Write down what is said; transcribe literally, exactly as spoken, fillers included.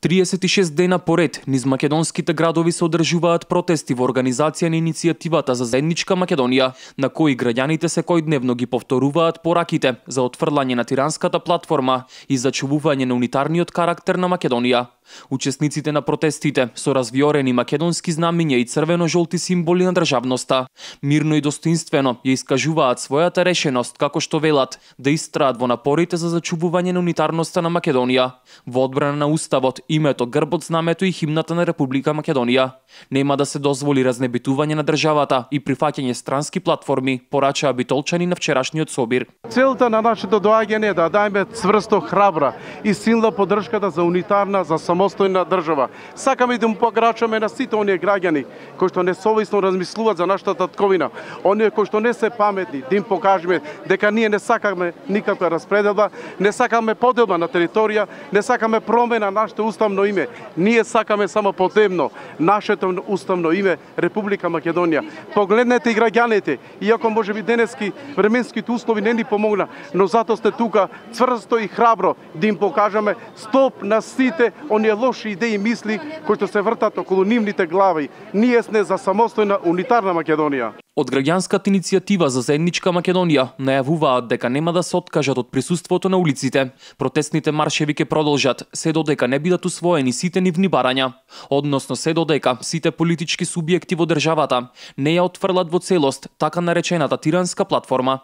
триесет и шест дена поред низ македонските градови се одржуваат протести во организација на иницијативата за заедничка Македонија, на кои граѓаните секојдневно ги повторуваат пораките за отфрлање на тиранската платформа и зачувување на унитарниот карактер на Македонија. Учесниците на протестите со развиорени македонски знамиња и црвено-жолти символи на државноста мирно и достоинствено ја искажуваат својата решеност, како што велат, да истраат во напорите за зачувување на унитарноста на Македонија, во одбрана на уставот, името, грбот, знамето и химната на Република Македонија. Нема да се дозволи разнебитување на државата и прифаќање странски платформи, порачаа битолчани на вчерашниот собир. Целта на нашето доаѓање е да дајме цврсто, храбра и силна поддршката за унитарна, за самостојна држава. Сакаме да му пограчаме на сите оние граѓани кои што несовесно размислуваат за нашата татковина, оние кои што не се паметни, да им покажеме дека ние не сакаме никаква распределба, не сакаме поделба на територија, не сакаме промена на нашето уставно име. Ние сакаме само потемно нашето уставно име Република Македонија. Погледнете и граѓаните, иако можеби денески временските услови не ни помогна, но затоа сте тука цврсто и храбро да им покажеме стоп на сите оние лоши идеи и мисли кои што се вртат околу нивните глави. Ние сме за самостојна унитарна Македонија. Од граѓанската иницијатива за заедничка Македонија најавуваат дека нема да се откажат од присуството на улиците. Протестните маршеви ќе продолжат се додека не бидат усвоени сите нивни барања, односно се додека сите политички субјекти во државата не ја отфрлат во целост така наречената тиранска платформа.